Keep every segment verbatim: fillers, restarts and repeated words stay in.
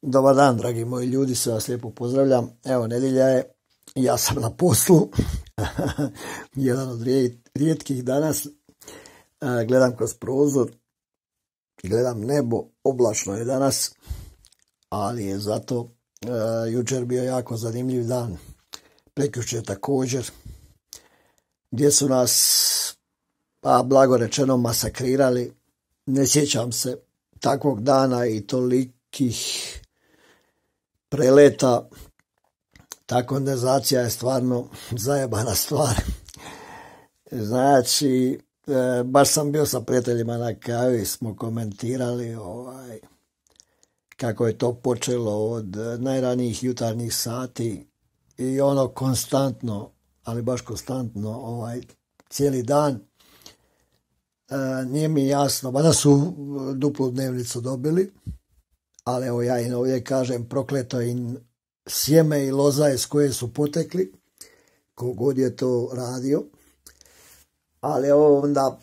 Dobar dan, dragi moji ljudi, sve vas lijepo pozdravljam. Evo, nedjelja je, ja sam na poslu, jedan od rijetkih danas. Gledam kroz prozor, gledam nebo, oblačno je danas, ali je zato uh, jučer bio jako zanimljiv dan. Prekjučer također, gdje su nas, pa blago rečeno, masakrirali. Ne sjećam se takvog dana i tolikih preleta. Ta kondenzacija je stvarno zajebana stvar. Znači, e, baš sam bio sa prijateljima na kavi, smo komentirali ovaj, kako je to počelo od najranijih jutarnjih sati i ono konstantno, ali baš konstantno, ovaj, cijeli dan. E, nije mi jasno, mada su duplu dnevnicu dobili, ali evo ja im ovdje kažem, prokleto im sjeme i loza iz koje su potekli, kogod je to radio. Ali onda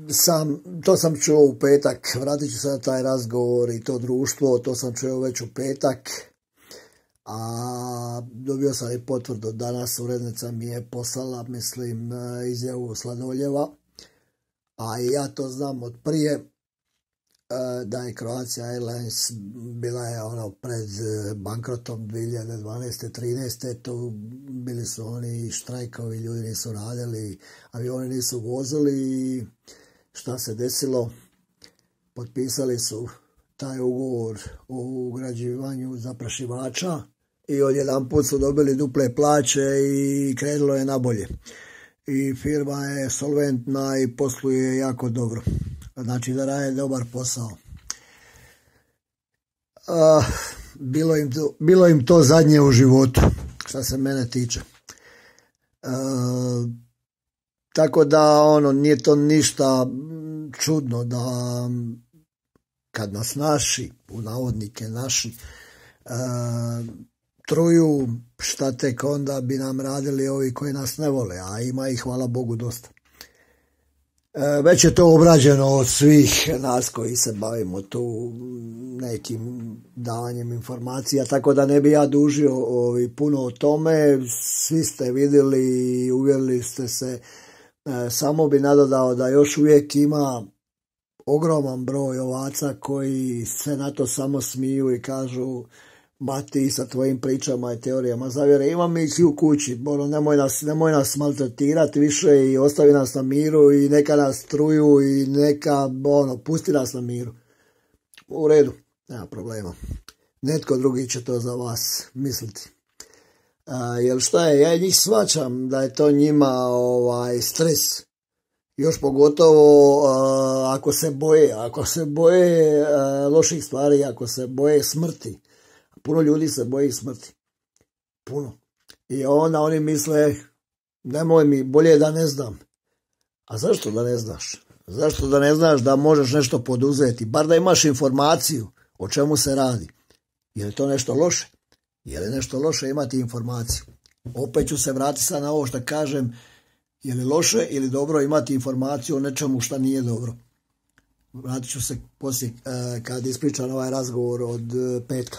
sam, to sam čuo u petak, vratit ću se na taj razgovor i to društvo, to sam čuo već u petak, a dobio sam i potvrdu danas, urednica mi je poslala, mislim, izjavu Sladoljeva, a i ja to znam od prije, da je Croatia Airlines bila je ono pred bankrotom dvije hiljade dvanaeste trinaeste to bili su oni štrajkovi, ljudi nisu radili, avioni nisu vozili i šta se desilo? Potpisali su taj ugovor o ugrađivanju zaprašivača i odjedanput su dobili duple plaće i krenulo je nabolje. I firma je solventna i posluje jako dobro. Znači da rade dobar posao. Uh, bilo, im to, bilo im to zadnje u životu, što se mene tiče. Uh, tako da ono, nije to ništa čudno da kad nas naši, u navodnike naši, uh, truju, šta tek onda bi nam radili ovi koji nas ne vole, a ima ih hvala Bogu dosta. Već je to obrađeno od svih nas koji se bavimo tu nekim davanjem informacija, tako da ne bi ja dužio ovi, puno o tome. Svi ste vidjeli i uvjerili ste se. Samo bi nadodao da još uvijek ima ogroman broj ovaca koji se na to samo smiju i kažu ma ti sa tvojim pričama i teorijama zavjere, imam ih i u kući, ono, nemoj nas, nemoj nas maltretirati više i ostavi nas na miru i neka nas truju i neka, ono, pusti nas na miru. U redu, nema problema. Netko drugi će to za vas misliti. A, jer šta je, ja njih shvaćam da je to njima ovaj, stres. Još pogotovo a, ako se boje, ako se boje a, loših stvari, ako se boje smrti. Puno ljudi se boji smrti. Puno. I onda oni misle, nemoj mi, bolje da ne znam. A zašto da ne znaš? Zašto da ne znaš da možeš nešto poduzeti? Bar da imaš informaciju o čemu se radi. Je li to nešto loše? Je li nešto loše imati informaciju? Opet ću se vratiti sad na ovo što kažem, je li loše ili dobro imati informaciju o nečemu što nije dobro. Vratit ću se poslije kad ispričam ovaj razgovor od petka.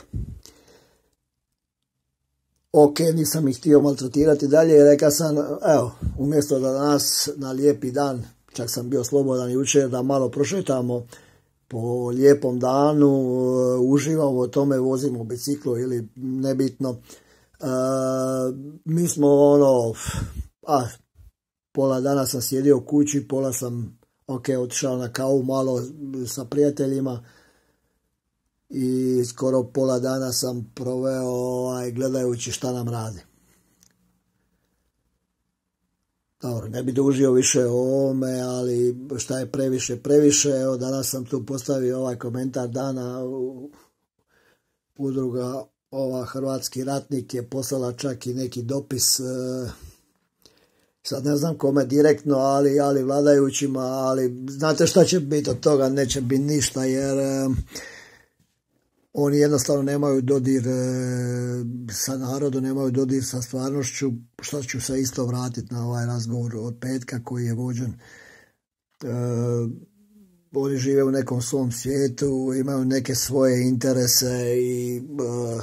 Ok, nisam ih htio maltretirati dalje, rekao sam, evo, umjesto da danas na lijepi dan, čak sam bio slobodan jučer, da malo prošetamo po lijepom danu, uživamo o tome, vozimo biciklo ili nebitno. E, mi smo ono, a, pola dana sam sjedio u kući, pola sam ok, otišao na kavu malo sa prijateljima i skoro pola dana sam proveo ovaj, gledajući šta nam radi. Dobro, ne bi dužio više o ovome, ali šta je previše, previše. Evo, danas sam tu postavio ovaj komentar dana. Udruga ova Hrvatski ratnik je poslala čak i neki dopis, sad ne znam kome direktno, ali, ali vladajućima, ali znate šta će biti od toga, neće biti ništa, jer eh, oni jednostavno nemaju dodir eh, sa narodom, nemaju dodir sa stvarnošću, što ću se isto vratiti na ovaj razgovor od petka koji je vođen. Eh, oni žive u nekom svom svijetu, imaju neke svoje interese i uh,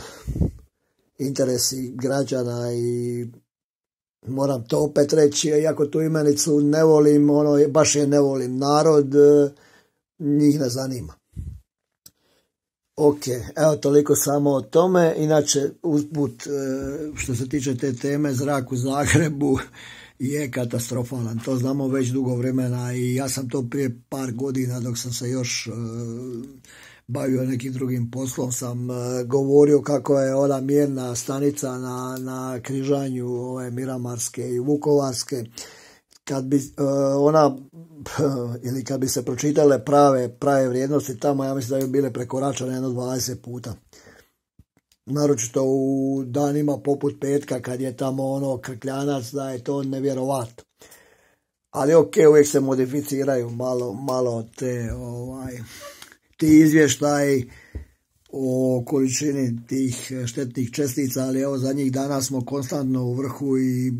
interesi građana i moram to opet reći, iako tu imenicu ne volim, ono, baš je ne volim, narod uh, njih ne zanima. Ok, evo toliko samo o tome. Inače, usput, što se tiče te teme, zrak u Zagrebu je katastrofalan. To znamo već dugo vremena i ja sam to prije par godina, dok sam se još uh, bavio nekim drugim poslom, sam uh, govorio kako je ona mjerna stanica na, na križanju ove Miramarske i Vukovarske. Kad bi uh, ona ili kad bi se pročitale prave, prave vrijednosti tamo, ja mislim da bi bile prekoračene jedno dvadeset puta. Naročito u danima poput petka kad je tamo ono krkljanac, da je to nevjerovatno. Ali ok, uvijek se modificiraju malo, malo te ovaj, ti izvještaji o količini tih štetnih čestica, ali evo zadnjih dana smo konstantno u vrhu i e,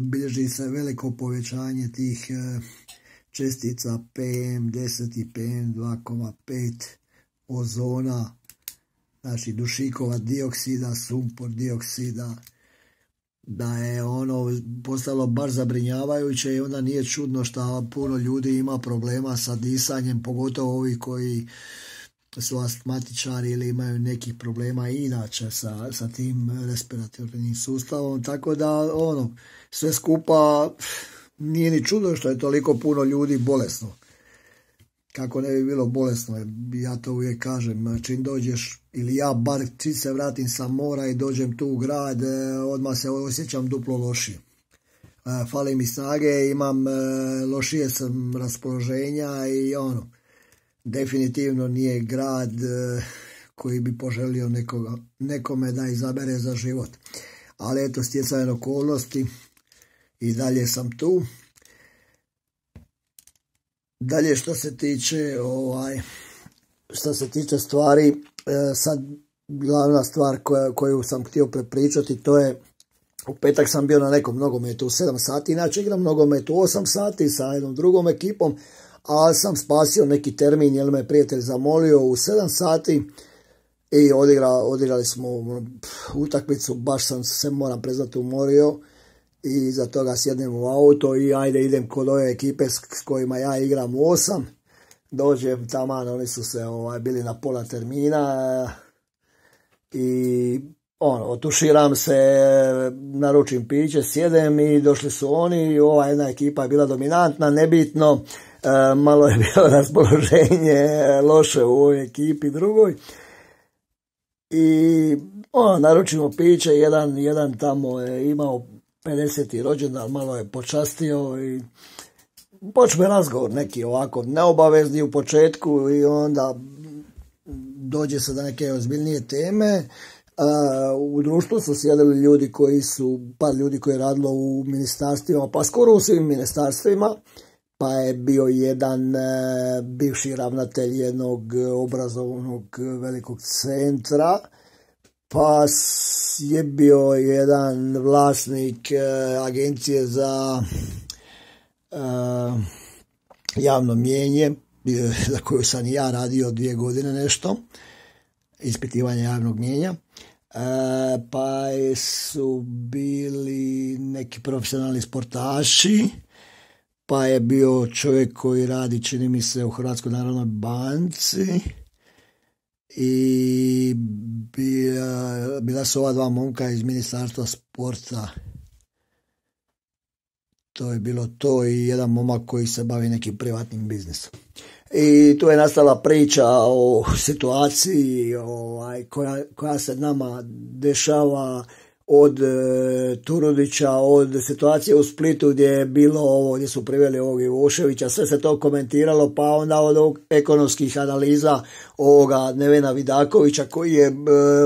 bilježi se veliko povećanje tih e, čestica P M deset i P M dva zarez pet, ozona, znači dušikova dioksida, sumpor dioksida, da je ono postalo baš zabrinjavajuće i onda nije čudno što puno ljudi ima problema sa disanjem, pogotovo ovi koji su astmatičari ili imaju nekih problema inače sa, sa tim respiratornim sustavom, tako da ono, sve skupa nije ni čudo što je toliko puno ljudi bolesno. Kako ne bi bilo bolesno, ja to uvijek kažem, čim dođeš, ili ja bar čim se vratim sa mora i dođem tu u grad, odmah se osjećam duplo lošije. Fali mi snage, imam lošije sam raspoloženja i ono, definitivno nije grad koji bi poželio nekoga, nekome da izabere za život. Ali eto, stjecajem okolnosti i dalje sam tu. Dalje što se tiče ovaj, što se tiče stvari, sad glavna stvar koja, koju sam htio prepričati, to je u petak sam bio na nekom nogometu u sedam sati, inače igram nogomet u osam sati sa jednom drugom ekipom, ali sam spasio neki termin jer me prijatelj zamolio u sedam sati i odigra, odigrali smo utakmicu, baš sam se, moram priznati, umorio i iza toga sjednem u auto i ajde idem kod ove ekipe s kojima ja igram u osam, dođem taman, oni su se ovaj, bili na pola termina i ono, otuširam se, naručim piće, sjedem i došli su oni, ova jedna ekipa je bila dominantna, nebitno, e, malo je bilo raspoloženje loše u ovoj ekipi drugoj i ono, naručimo piće, jedan, jedan tamo je imao pedeseti rođendan, malo je počastio i počne razgovor neki ovako neobavezni u početku i onda dođe se do neke ozbiljnije teme. Uh, u društvu su sjedili ljudi koji su, par ljudi koji je radilo u ministarstvima, pa skoro u svim ministarstvima, pa je bio jedan uh, bivši ravnatelj jednog obrazovnog velikog centra, pa je bio jedan vlasnik uh, agencije za uh, javno mnijenje, za koju sam i ja radio dvije godine nešto, ispitivanje javnog mnijenja. E, pa su bili neki profesionalni sportaši, pa je bio čovjek koji radi, čini mi se, u Hrvatskoj narodnoj banci i bila, bila su ova dva momka iz Ministarstva sporta. To je bilo to i jedan momak koji se bavi nekim privatnim biznisom. I tu je nastala priča o situaciji ovaj, koja, koja se nama dešava od e, Turudića, od situacije u Splitu gdje je bilo ovo, gdje su priveli ovog Ivoševića, sve se to komentiralo, pa onda od ovog ekonomskih analiza ovoga Nevena Vidakovića koji je, e,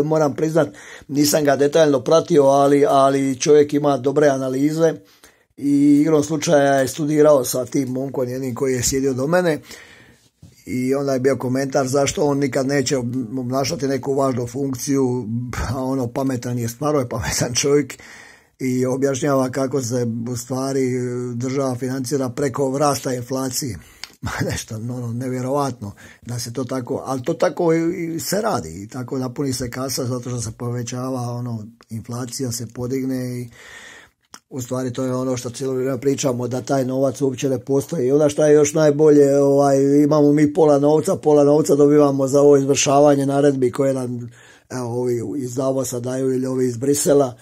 moram priznat, nisam ga detaljno pratio, ali, ali čovjek ima dobre analize i igrom slučaja je studirao sa tim momkom jednim koji je sjedio do mene. I onda je bio komentar zašto on nikad neće obnašati neku važnu funkciju, a ono pametan je, stvarno je pametan čovjek i objašnjava kako se u stvari država financira preko rasta inflacije. nešto ono, nevjerovatno da se to tako, ali to tako i se radi i tako napuni se kasa zato što se povećava ono, inflacija se podigne i u stvari to je ono što cijelo vrijeme pričamo, da taj novac uopće ne postoji. I onda što je još najbolje, ovaj, imamo mi pola novca, pola novca dobivamo za ovo izvršavanje naredbi koje nam evo, ovi iz Davosa daju ili ovi iz Brisela.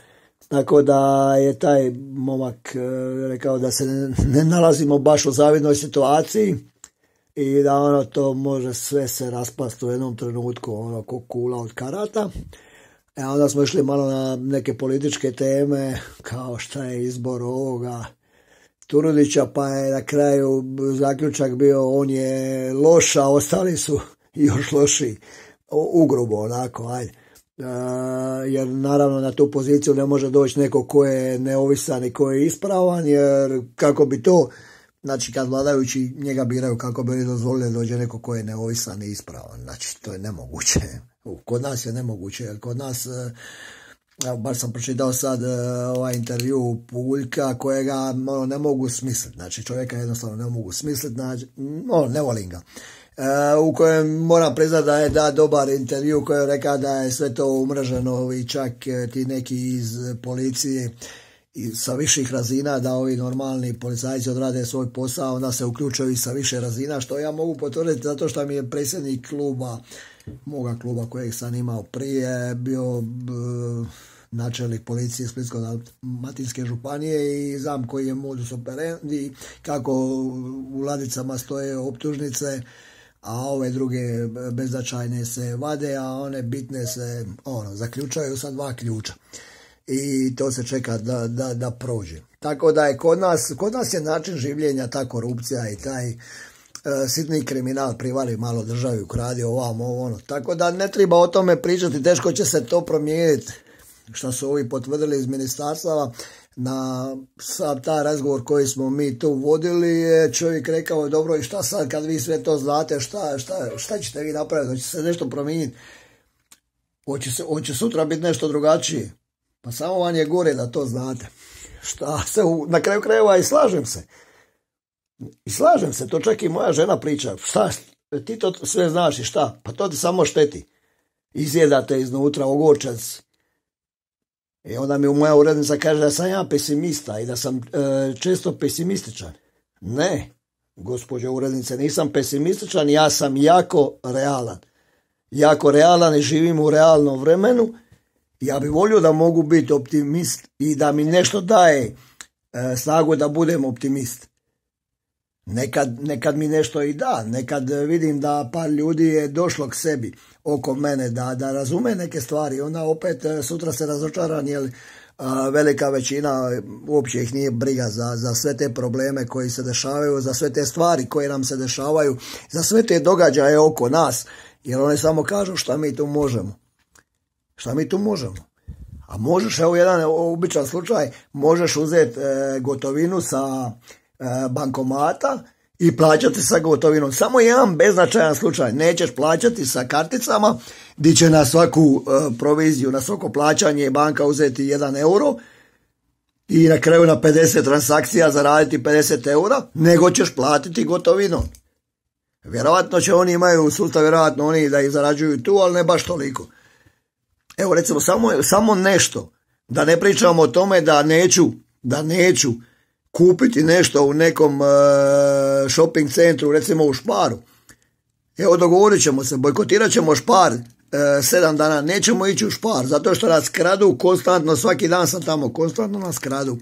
Tako da je taj momak e, rekao da se ne, ne nalazimo baš u zavidnoj situaciji i da ono to može sve se raspasti u jednom trenutku, ono ko kula od karata. E onda smo išli malo na neke političke teme, kao šta je izbor ovoga Turudića, pa je na kraju zaključak bio on je loš, a ostali su još lošiji, ugrubo onako, ajde. E, jer naravno na tu poziciju ne može doći neko ko je neovisan i ko je ispravan, jer kako bi to, znači kad vladajući njega biraju, kako bi oni dozvolili da dođe neko ko je neovisan i ispravan, znači to je nemoguće. Kod nas je nemoguće, jer kod nas, evo, bar sam pročitao sad ovaj intervju Puljka kojega ono, ne mogu smisliti, znači čovjeka jednostavno ne mogu smisliti, znači, no, ne volim ga. E, u kojem moram priznati da je da dobar intervju koji je rekao da je sve to umreženo i čak ti neki iz policije i sa viših razina, da ovi normalni policajci odrade svoj posao, onda se uključuju i sa više razina, što ja mogu potvrditi zato što mi je predsjednik kluba, moga kluba kojeg sam imao prije, bio b, načelnik policije Splitsko-dalmatinske županije i znam koji je modus operandi, kako u ladicama stoje optužnice, a ove druge beznačajne se vade, a one bitne se ono, zaključaju sa dva ključa. I to se čeka da, da, da prođe. Tako da je kod nas, kod nas je način življenja ta korupcija i taj e, sitni kriminal, privari malo državi, ukradi ovamo, ovo, ono. Tako da ne treba o tome pričati, teško će se to promijeniti, što su ovi potvrdili iz ministarstava. Na sad ta razgovor koji smo mi tu vodili je čovjek rekao, dobro i šta sad kad vi sve to znate, šta, šta, šta ćete vi napraviti, hoće se nešto promijeniti, hoće, se, hoće sutra biti nešto drugačije. Pa samo vam je gore da to znate. Šta se, u, na kraju krajeva i slažem se. I slažem se, to čak i moja žena priča. Šta, ti to sve znaš i šta? Pa to ti samo šteti. Izjedate iznutra ogorčac. I onda mi moja urednica kaže da sam ja pesimista i da sam e, često pesimističan. Ne, gospođo urednice, nisam pesimističan, ja sam jako realan. Jako realan i živim u realnom vremenu. Ja bih volio da mogu biti optimist i da mi nešto daje e, snagu da budem optimist. Nekad, nekad mi nešto i da, nekad vidim da par ljudi je došlo k sebi oko mene, da, da razume neke stvari, onda opet e, sutra se razočaran, jer a, velika većina uopće ih nije briga za, za sve te probleme koji se dešavaju, za sve te stvari koje nam se dešavaju, za sve te događaje oko nas, jer oni samo kažu šta mi tu možemo. Šta mi tu možemo? A možeš, evo jedan običan slučaj, možeš uzeti e, gotovinu sa e, bankomata i plaćati sa gotovinom. Samo jedan beznačajan slučaj. Nećeš plaćati sa karticama, gdje će na svaku e, proviziju, na svako plaćanje banka uzeti jedan euro i na kraju na pedeset transakcija zaraditi pedeset eura, nego ćeš platiti gotovinom. Vjerovatno će oni imaju sustav, vjerovatno oni da ih zarađuju tu, ali ne baš toliko. Evo recimo samo, samo nešto, da ne pričamo o tome da neću, da neću kupiti nešto u nekom uh, shopping centru, recimo u Sparu. Evo dogovorit ćemo se, bojkotirat ćemo Spar uh, sedam dana, nećemo ići u Spar, zato što nas kradu konstantno, svaki dan sam tamo, konstantno nas kradu.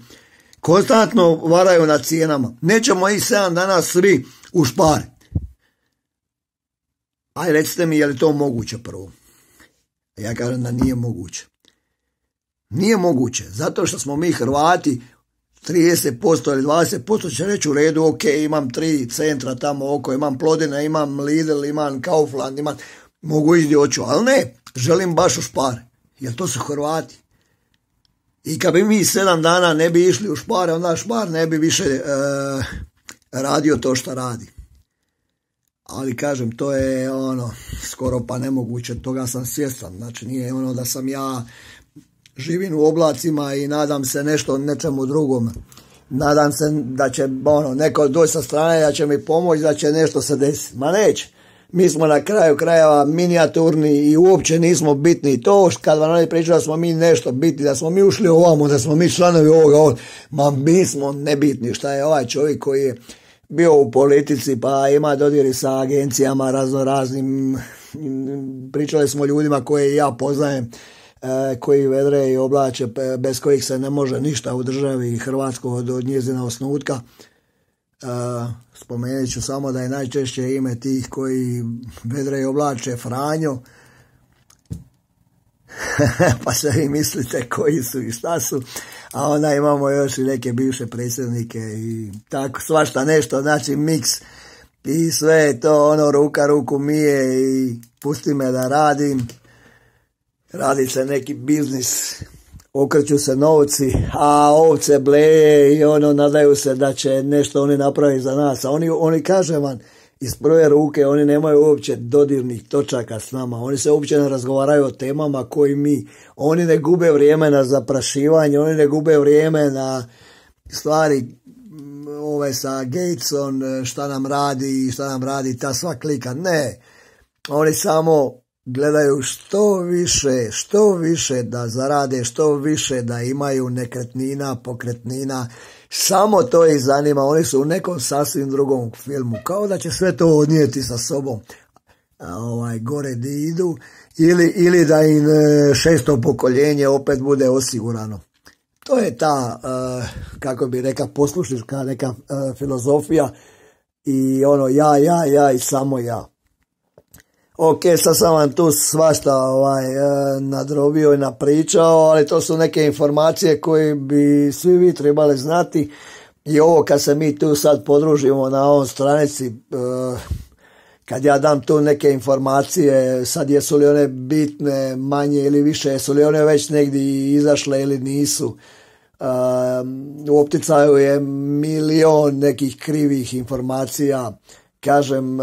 Konstantno varaju na cijenama. Nećemo ići sedam dana svi u Spar. Aj recite mi je li to moguće prvo. Ja kažem da nije moguće. Nije moguće, zato što smo mi Hrvati trideset posto ili dvadeset posto će reći u redu, ok, imam tri centra tamo oko, imam Plodine, imam Lidl, imam Kaufland, imam, mogu ići hoću, ali ne, želim baš u Spar, jer to su Hrvati. I kad bi mi sedam dana ne bi išli u Spare, onda Spar ne bi više e, radio to što radi. Ali kažem, to je ono skoro pa nemoguće, toga sam svjestan. Znači nije ono da sam ja živim u oblacima i nadam se nešto nečemu drugom. nadam se da će ono, neko doći sa strane, da će mi pomoći, da će nešto se desiti. Ma neće. Mi smo na kraju krajeva minijaturni i uopće nismo bitni. To kad vam oni pričaju da smo mi nešto bitni, da smo mi ušli ovamo, da smo mi članovi ovoga, ovoga. Ma mi smo nebitni. Šta je ovaj čovjek koji je bio u politici pa ima dodiri sa agencijama razno raznim. Pričali smo ljudima koje ja poznajem, koji vedre i oblače, bez kojih se ne može ništa u državi Hrvatskoj od, od njezina osnutka. Spomenut ću samo da je najčešće ime tih koji vedre i oblače Franjo. Pa se vi mislite koji su i šta su. A onda imamo još i neke bivše predsjednike i tako svašta nešto, znači miks. I sve je to ono ruka ruku mije i pusti me da radim. Radi se neki biznis, okreću se novci, a ovce bleje i ono nadaju se da će nešto oni napraviti za nas. A oni, oni kažem vam, iz prve ruke oni nemaju uopće dodirnih točaka s nama. Oni se uopće ne razgovaraju o temama koji mi. Oni ne gube vrijeme na zaprašivanje, oni ne gube vrijeme na stvari ove sa Gatesom, šta nam radi, šta nam radi ta sva klika. Ne, oni samo gledaju što više, što više da zarade, što više da imaju nekretnina, pokretnina. Samo to ih zanima. Oni su u nekom sasvim drugom filmu. Kao da će sve to odnijeti sa sobom. A ovaj, gore di idu. Ili, ili da im šesto pokoljenje opet bude osigurano. To je ta, uh, kako bi rekao, poslušnička neka uh, filozofija. I ono ja, ja, ja i samo ja. Ok, sad sam vam tu svašta ovaj, nadrobio i napričao, ali to su neke informacije koje bi svi vi trebali znati. I ovo kad se mi tu sad podružimo na ovom stranici, kad ja dam tu neke informacije, sad jesu li one bitne, manje ili više, jesu li one već negdje izašle ili nisu. U opticaju je milion nekih krivih informacija, kažem,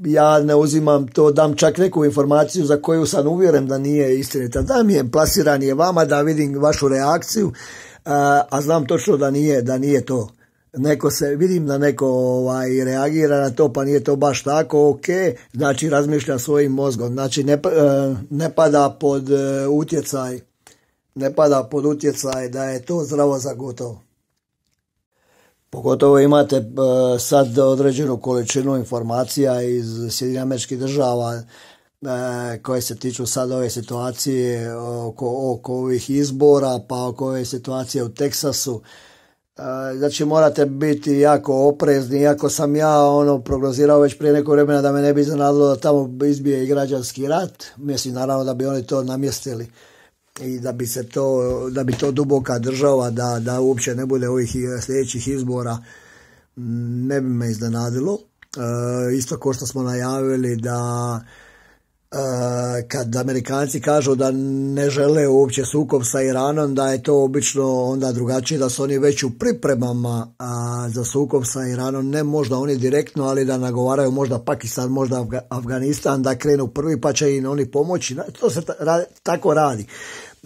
ja ne uzimam to, dam čak neku informaciju za koju sam uvjeren da nije istinita. Dam je, plasiran je vama da vidim vašu reakciju, a znam točno da nije, da nije to. Neko se, vidim da neko ovaj, reagira na to, pa nije to baš tako, ok, znači razmišlja svojim mozgom, znači ne, ne pada pod utjecaj, ne pada pod utjecaj da je to zdravo za gotovo. Pogotovo imate uh, sad određenu količinu informacija iz Sjedinjenih Američkih Država uh, koje se tiču sad ove situacije oko, oko ovih izbora, pa oko ove situacije u Teksasu. Uh, znači morate biti jako oprezni, iako sam ja ono prognozirao već prije neko vremena da me ne bi iznenadilo da tamo izbije i građanski rat. Mislim naravno da bi oni to namjestili i da bi se to, da bi to duboka država, da, da uopće ne bude ovih sljedećih izbora, ne bi me iznenadilo. E, isto kao što smo najavili da e, kad Amerikanci kažu da ne žele uopće sukob sa Iranom, da je to obično onda drugačije, da su oni već u pripremama a, za sukob sa Iranom, ne možda oni direktno, ali da nagovaraju možda Pakistan, možda Afganistan da krenu prvi pa će im oni pomoći. To se ta, tako radi.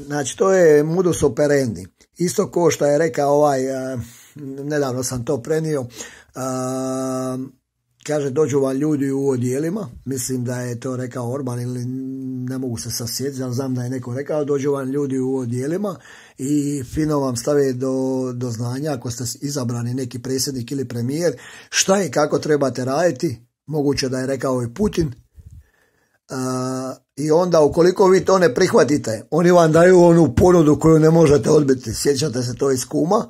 Znači to je modus operandi. Isto ko što je rekao ovaj, a, nedavno sam to prenio, a, kaže dođu vam ljudi u odjelima, mislim da je to rekao Orban ili ne mogu se sasjetiti, ali znam da je neko rekao, dođu vam ljudi u odjelima i fino vam stave do, do znanja ako ste izabrani neki predsjednik ili premijer, šta i kako trebate raditi, moguće da je rekao i Putin. Uh, i onda ukoliko vi to ne prihvatite, oni vam daju onu ponudu koju ne možete odbiti. Sjećate se to iz Kuma?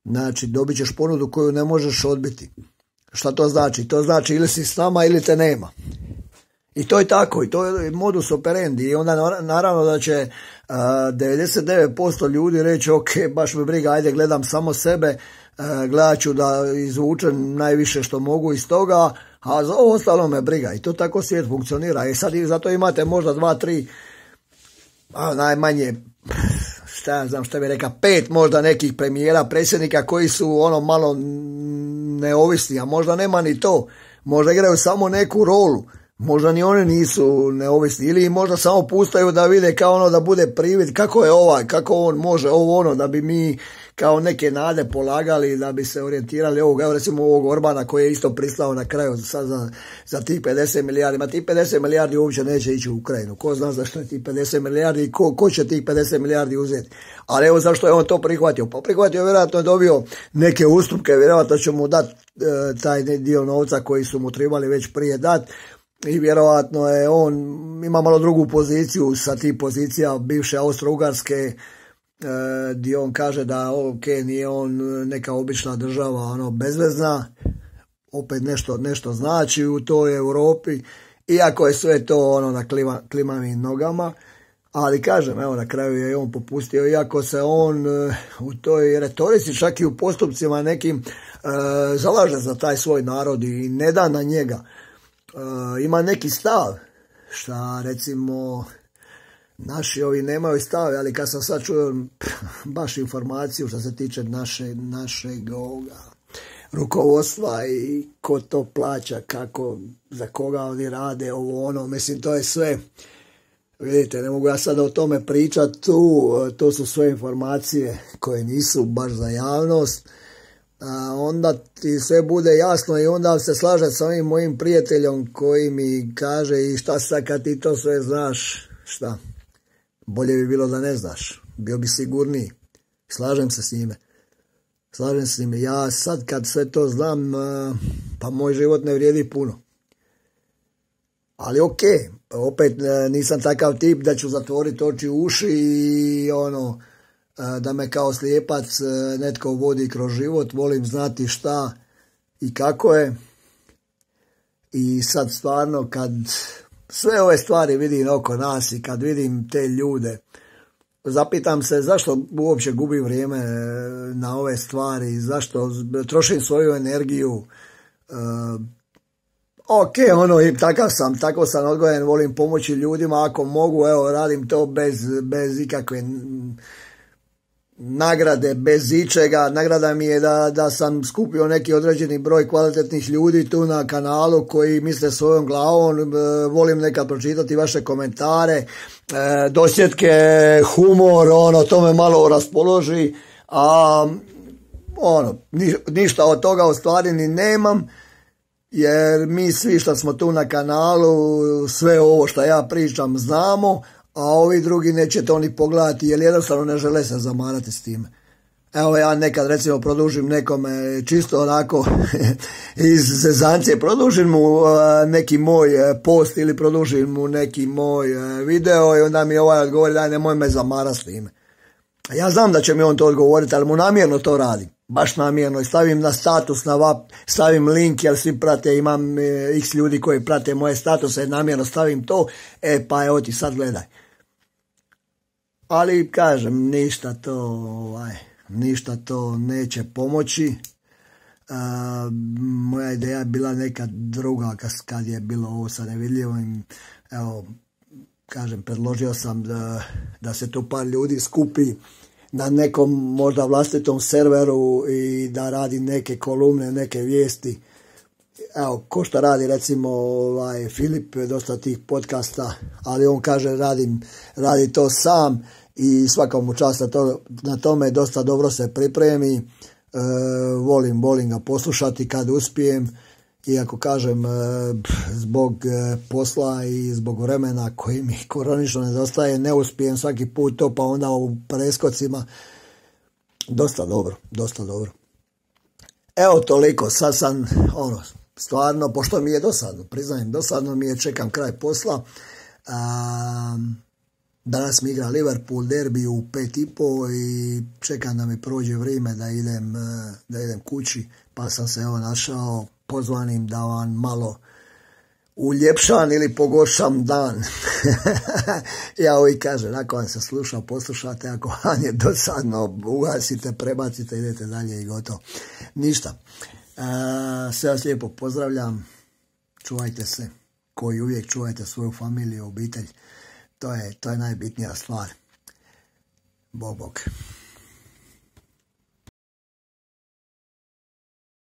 Znači dobit ćeš ponudu koju ne možeš odbiti. Šta to znači? To znači ili si s nama ili te nema. I to je tako, i to je modus operandi. I onda naravno da će uh, devedeset devet posto ljudi reći ok, baš me briga, ajde gledam samo sebe, uh, gledat ću da izvučem najviše što mogu iz toga, a za ovo ostalo me briga. I to tako svijet funkcionira. I sad zato imate možda dva, tri, a najmanje, šta ja znam šta bi rekao, pet možda nekih premijera, predsjednika koji su ono malo neovisni, a možda nema ni to. Možda igraju samo neku rolu. Možda ni oni nisu neovisni ili možda samo pustaju da vide kao ono da bude privid kako je ovaj, kako on može ovo ono da bi mi kao neke nade polagali da bi se orijentirali ovog, evo recimo ovog Orbana koji je isto pristao na kraju sad za, za tih pedeset milijardi. Ma tih pedeset milijardi uopće neće ići u Ukrajinu. Ko zna zašto je tih pedeset milijardi i ko, ko će tih pedeset milijardi uzeti. Ali evo zašto je on to prihvatio. Pa prihvatio, vjerojatno je dobio neke ustupke, vjerojatno će mu dati e, taj dio novca koji su mu trebali već prije dati. I vjerojatno je on, ima malo drugu poziciju sa tih pozicija bivše Austro-Ugarske, e, gdje on kaže da ok, nije on neka obična država, ono, bezvezna, opet nešto, nešto znači u toj Europi, iako je sve to ono na klima, klimavim nogama, ali kažem, evo na kraju je on popustio, iako se on e, u toj retorici, čak i u postupcima nekim, e, zalaže za taj svoj narod i ne da na njega. Uh, ima neki stav, šta recimo naši ovi nemaju stav, ali kad sam sad čuo baš informaciju što se tiče naše, našeg ovoga rukovodstva i ko to plaća, kako, za koga oni rade, ovo ono, mislim to je sve, vidite, ne mogu ja sada o tome pričati tu, to su sve informacije koje nisu baš za javnost. A onda ti sve bude jasno i onda se slažem sa ovim mojim prijateljom koji mi kaže i šta sad kad ti to sve znaš, šta, bolje bi bilo da ne znaš, bio bi sigurniji, slažem se s njime, slažem se s njime, ja sad kad sve to znam, pa moj život ne vrijedi puno, ali ok, opet nisam takav tip da ću zatvoriti oči u uši i ono, da me kao slijepac netko vodi kroz život, volim znati šta i kako je. I sad stvarno kad sve ove stvari vidim oko nas i kad vidim te ljude, zapitam se zašto uopće gubim vrijeme na ove stvari, zašto trošim svoju energiju. Uh, ok, ono, i takav sam, tako sam odgojen, volim pomoći ljudima, ako mogu, evo, radim to bez, bez ikakve nagrade, bez ičega. Nagrada mi je da, da sam skupio neki određeni broj kvalitetnih ljudi tu na kanalu koji misle svojom glavom, e, volim nekad pročitati vaše komentare, e, dosjetke, humor, ono, to me malo raspoloži, a ono, ni, ništa od toga u stvari ni nemam, jer mi svi što smo tu na kanalu, sve ovo što ja pričam znamo, a ovi drugi neće to ni pogledati jer jednostavno ne žele se zamarati s time. Evo ja nekad recimo produžim nekome čisto onako iz zezancije, produžim mu neki moj post ili produžim mu neki moj video i onda mi ovaj odgovori daj nemoj me zamarati s time. Ja znam da će mi on to odgovoriti, ali mu namjerno to radim. Baš namjerno i stavim na status, na vap, stavim link jer svi prate, imam e, x ljudi koji prate moje statuse, namjerno stavim to, e pa evo ti sad gledaj. Ali kažem, ništa to, ovaj, ništa to neće pomoći. Uh, moja ideja je bila neka druga kad je bilo ovo sa nevidljivim. Evo, kažem, predložio sam da, da se tu par ljudi skupi na nekom možda vlastitom serveru i da radi neke kolumne, neke vijesti. Evo, ko što radi recimo ovaj, Filip, dosta tih podcasta, ali on kaže radim, radi to sam i svaka mu čast na, to, na tome, dosta dobro se pripremi, e, volim, volim ga poslušati kad uspijem, iako kažem e, zbog e, posla i zbog vremena koji mi koronično nedostaje, ne uspijem svaki put to, pa onda u preskocima, dosta dobro, dosta dobro. Evo toliko, sad sam, ono, stvarno, pošto mi je dosadno, priznajem, dosadno mi je, čekam kraj posla. A, danas mi igra Liverpool derbi u pet i po i čekam da mi prođe vrijeme da idem, da idem kući, pa sam se evo našao pozvanim da vam malo uljepšam ili pogoršam dan. Ja uvijek kažem, ako vam se sluša, poslušate, ako vam je dosadno, ugasite, prebacite, idete dalje i gotovo. Ništa. E, sve vas lijepo pozdravljam, čuvajte se, koji uvijek čuvajte svoju familiju, obitelj, to je, to je najbitnija stvar. Bog, bog.